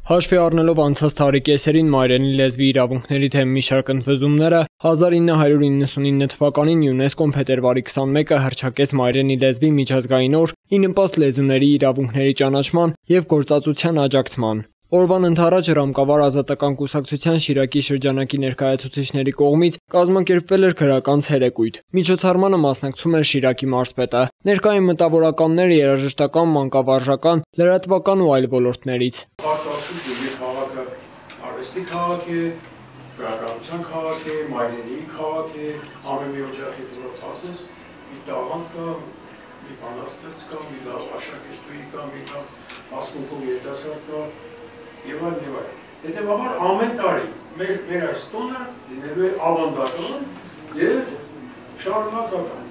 Հաշվի առնելով անցած տարի կեսերին մայրենի լեզվի իրավունքների թեմի մի շարք ընդվզումները, 1999 թվականին ՅՈՒՆԵՍԿՕ-ն փետրվարի 21-ը հռչակեց մայրենի լեզվի միջազգային օր՝ ի նպաստ լեզուների իրավունքների ճանաչման և գործածության աջակցման։ Օրվան ընդառաջ Ռամկավար ազատական կուսակցության Շիրակի շրջանակի ներկայացուցիչների կողմից կազմակերպվել էր գրական ցերեկույթ։ Միջոցառմանը մասնակցում էր Շիրակի մարզպետը։ Ներկա էին մտավորականներ երաժշտական, մանկավարժական, լրատվական ու այլ ոլորտներից։ Քաղաքը արվեստի քաղաք է, գրականության քաղաք է, մայրենիի քաղաք է, ամեն մի օջախի դուրս ասես, մի տաղանդ կա, մի բանաստեղծ կա, մի լավ աշակերտուհի կա, մի լավ ասմունքով երիտասարդ կա, եւ այլն եւ այլն։ Հետեւաբար ամեն տարի մեր այս տոնը լինելու է ավանդական եւ շարունակական։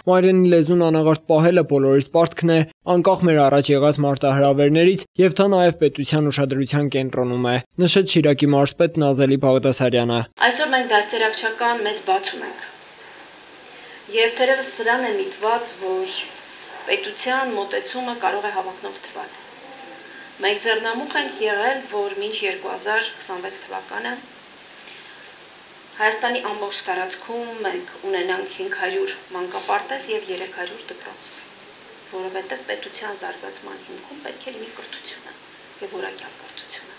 Մայրենի լեզուն անաղարտ պահելը բոլորիս պարտքն է, անկախ մեր առաջ եղած մարտահրավերներից եւ դա նաեւ պետության ուշադրության կենտրոնում է, նշեց Շիրակի մարզպետ Նազելի Բաղդասարյանը։ Այսօր մենք դաստիարակչական մեծ բաց ունենք։ Եվ թերևս սրան է միտված, որ պետության մոտեցումը կարող է հավակնող թվալ։ Մենք ձեռնամուխ ենք եղել, որ մինչ 2026 թվականը Հայաստանի ամբողջ տարածքում մենք ունենանք 500 մանկապարտեզ եւ 300 դպրոց, որովհետեւ պետության զարգացման հիմքում պետք է լինի կրթությունը եւ որակյալ կրթությունը։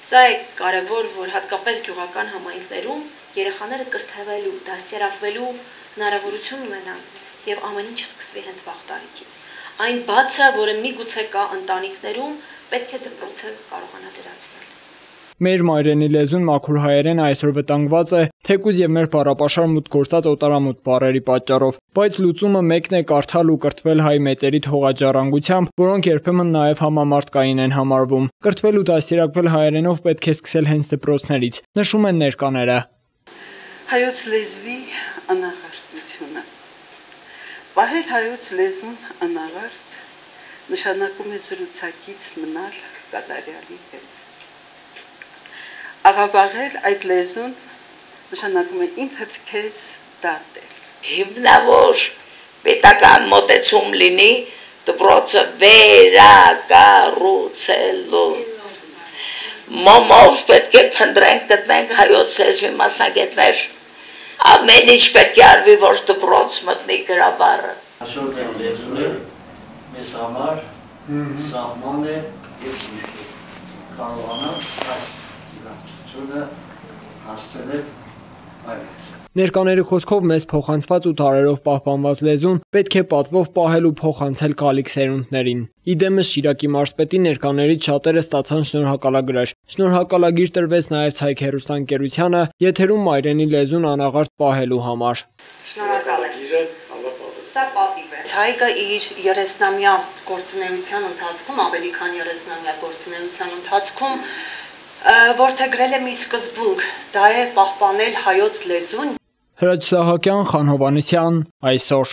Սա է կարեւոր, որ հատկապես գյուղական համայնքներում երեխաները կրթվելու, դաստիարակվելու հնարավորություն ունենան եւ ամեն ինչ սկսվի հենց վաղ տարիքից։ Այն բացը, որը միգուցե կա ընտանիքներում, պետք է դպրոցը կարողանա դրացնել։ Մեր մայրենի լեզուն մաքուր հայերենը այսօր վտանգված է, թեկուզ եւ մեր բառապաշար մուտք գործած օտարամուտ բառերի պատճառով, բայց լուծումը մեկն է՝ կարդալ ու կրթվել հայ մեծերի թողաջառանգությամբ, որոնք երբեմն նաեւ համամարտկային են համարվում։ Կրթվել ու դաստիարակվել հայերենով պետք է սկսել հենց դպրոցներից, նշում են ներկաները։ Հայոց լեզվի անաղարտությունը։ Պահել հայոց լեզուն անաղարտ նշանակում է զրուցակից մնալ կատարյալի հետ։ Աղավաղել այդ լեզուն նշանակում է ինքդ քեզ դատել։ Հիմնավոր պետական մոտեցում լինի դպրոցը վերակառուցելու։ Մոմով պետք է փնտրենք գտնենք հայոց լեզվի մասնագետներ։ Ամեն ինչ պետք է արվի, որ դպրոց մտնի գրաբարը։ Այսօր լեզուն է մեզ համար սահման է եւ կարողանանք այս իրավիճակը հասցնել այլոց։ Ներկաների խոսքով մեզ փոխանցված ու տարերով պահպանված լեզուն պետք է պատվով պահել ու փոխանցել գալիք սերունդներին։ Իդեմս Շիրակի մարզպետի ներկաներից շատերը ստացան շնորհակալագրեր։ Շնորհակալագիր տրվեց նաև Ցայք հեռուստաընկերությանը եթերում մայրենի լեզուն անաղարտ պահելու համար։ Շնորհակալ եմ։ Սա պատիվ է։ Ցայկը իր 30-ամյա գործունեության ընթացքում, ավելի քան 30-ամյա գործունեության ընթացքում որդեգրել է մի սկզբունք, դա է պահպանել հայոց լեզուն։ Հրաչ Սահակյան, Խան Հովհաննիսյան, այսօր։